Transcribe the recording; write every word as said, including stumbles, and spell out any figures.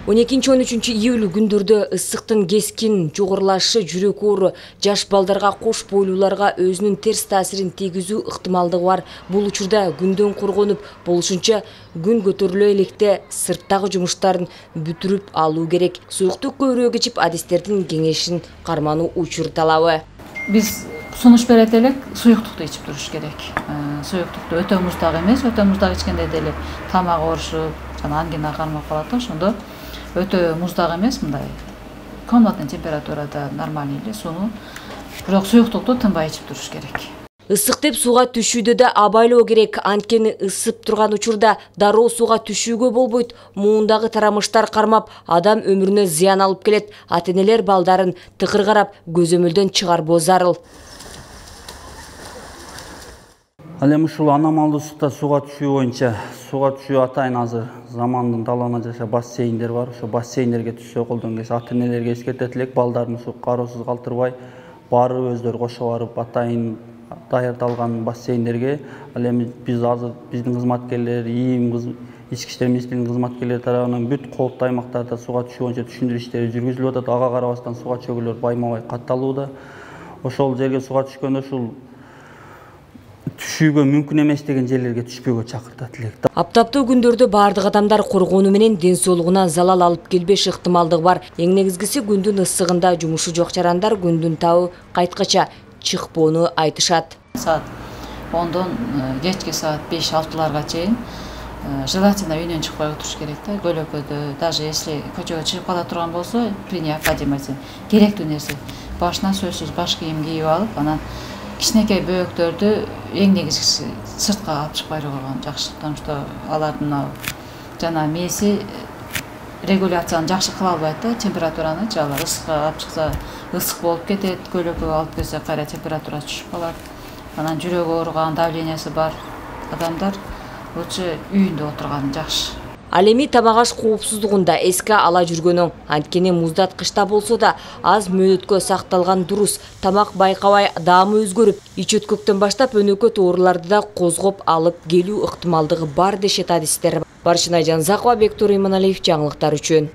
он экинчи он үчүнчү июль күндөрдө ысыктын кескин жогорулашы жүрөк оору жаш балдарга кош бойлууларга өзүнүн терс таасирин тийгизүү ыктымалдыгы бар. Бул учурда күндөн коргонуп, болушунча күн көтөрүлө электе сырттагы жумуштарын бүтүрүп алуу керек. Суюктук көбүрөөк ичип, адистердин кеңешин кармануу учур талабы. Биз сунуш берет элек, суюктукту ичип туруш керек. Суюктукту өтө муздак эмес, өтө муздак ичкенде деле тамак оорушуп, жана ангина кармап калат, ошондо өтө муздак эмес, мындай комнатный температурада нормальный эле сууну, бирок суюктукту тынбай ичип туруш керек. Ысык деп сууга түшүүдө да абайлоо керек. Анткени ысып турган учурда дароо сууга түшүүгө болбойт. Муундагы тарамыштар кармап, адам өмүрүнө зыян алып келет. Ата-энелер балдарын тыкыр карап, көзөмөлдөн чыгарбоо зарыл. Ал эми ушул аномалдуу ысыкта сууга түшүү боюнча, сууга түшүү атайын азыр замандын талабына жараша бассейндер бар. Ошо бассейндерге түшсө колдон келсе, ата-энелерге эскертет элек, балдарын ушу кароосуз калтырбай, баары өздөрү кошо барып атайын даярдалган бассейндерге. Ал эми биз азыр биздин кызматкерлер, ИИМ, ички иштер министрлигинин кызматкерлери тарабынан бүт кооптуу аймактарда сууга түшүү боюнча түшүндүрүү иштери жүргүзүлүп атат. Ага карабастан сууга чөгүүлөр байма-бай катталууда. Ошол жерге сууга түшкөндө ушул түшүүгө мүмкүн эмес деген жерлерге түшпөөгө чакыртат элек. Аптаптуу күндөрдө баардык адамдар коргонуу менен ден соолугуна залал алып келбеш ыктымалдыгы бар. Эң негизгиси күндүн ысыгында жумушу жок жарандар күндүн табы кайткача чыкпоону айтышат. Саат ондон кечки саат беш алтыларга чейин желательно үйдөн чыкпай отуруш керек да. Көлөкөдө, даже если көчөгө чыгып кала турган болсо, при необходимости керектүү нерсе башына сөзсүз баш кийим кийип алып, анан кичинекей бөөктөрдү эң негизгиси сыртка алып чыкпай койгон жакшы. Потому что алардын жана мээси регуляцияны жакшы кыла албайт да, температураны. Алар ысыкка алып чыкса ысык болуп кетет, көлөкөгө алып келсе кайра температурасы түшүп калат. Анан жүрөгү ооруган, давлениясы бар адамдар лучше үйүндө отурганы жакшы. Ал эми тамак аш коопсуздугунда эске ала жүргөнүң. Анткени муздаткычта болсо да аз мөөнөткө сакталган дурус. Тамак байкабай даамы өзгөрүп, ич өткөктөн баштап өнөкөт ооруларды да козгоп алып келүү ыктымалдыгы бар дешет адистер. Баршынай Жанзакова, Бектур Иманалиев жаңылыктар үчүн.